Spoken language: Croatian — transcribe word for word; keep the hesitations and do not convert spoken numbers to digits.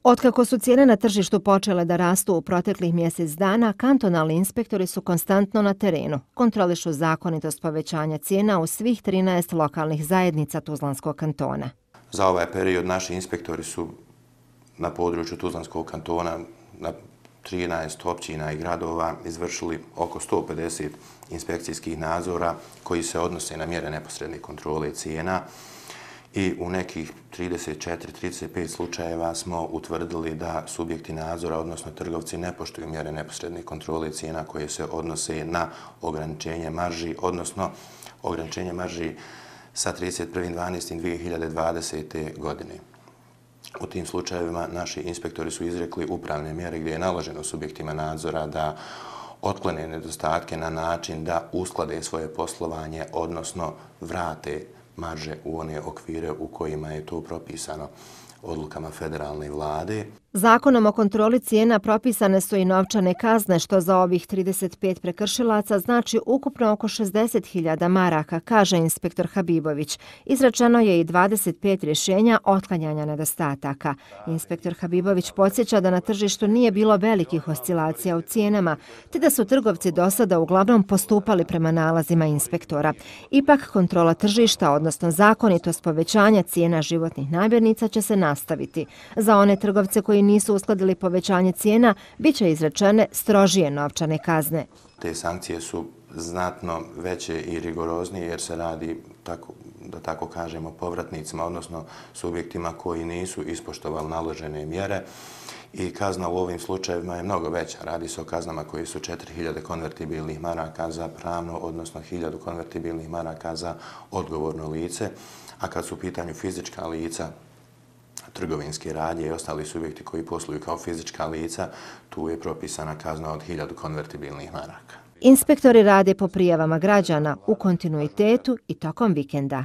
Otkako su cijene na tržištu počele da rastu u proteklih mjesec dana, kantonalni inspektori su konstantno na terenu. Kontrolišu zakonitost povećanja cijena u svih trinaest lokalnih zajednica Tuzlanskog kantona. Za ovaj period naši inspektori su na području Tuzlanskog kantona na trinaest općina i gradova izvršili oko sto pedeset inspekcijskih nadzora koji se odnose na mjere neposredne kontrole cijena. I u nekih trideset četiri do trideset pet slučajeva smo utvrdili da subjekti nadzora, odnosno trgovci, ne poštuju mjere neposredne kontrole cijena koje se odnose na ograničenje marži, odnosno ograničenje marži sa trideset prvog dvanaestog dvije hiljade dvadesete. godine. U tim slučajevima naši inspektori su izrekli upravne mjere gdje je naloženo subjektima nadzora da otklone nedostatke na način da usklade svoje poslovanje, odnosno vrate marže u one okvire u kojima je to propisano odlukama federalne vlade. Zakonom o kontroli cijena propisane su i novčane kazne, što za ovih trideset pet prekršilaca znači ukupno oko šezdeset hiljada maraka, kaže inspektor Habibović. Izrečeno je i dvadeset pet rješenja otklanjanja nedostataka. Inspektor Habibović podsjeća da na tržištu nije bilo velikih oscilacija u cijenama, te da su trgovci do sada uglavnom postupali prema nalazima inspektora. Ipak kontrola tržišta, odnosno zakonitost povećanja cijena životnih namirnica će se nastaviti. Za one trgovce koji nisu uskladili povećanje cijena, bit će izrečene strožije novčane kazne. Te sankcije su znatno veće i rigoroznije jer se radi, tako, da tako kažemo, povratnicima, odnosno subjektima koji nisu ispoštovali naložene mjere. I kazna u ovim slučajevima je mnogo veća. Radi se o kaznama koji su četiri hiljade konvertibilnih maraka za pravno, odnosno hiljadu konvertibilnih maraka za odgovorno lice. A kad su u pitanju fizička lica, trgovinske radnje i ostali subjekti koji posluju kao fizička lica, tu je propisana kazna od hiljadu konvertibilnih maraka. Inspektori rade po prijavama građana u kontinuitetu i tokom vikenda.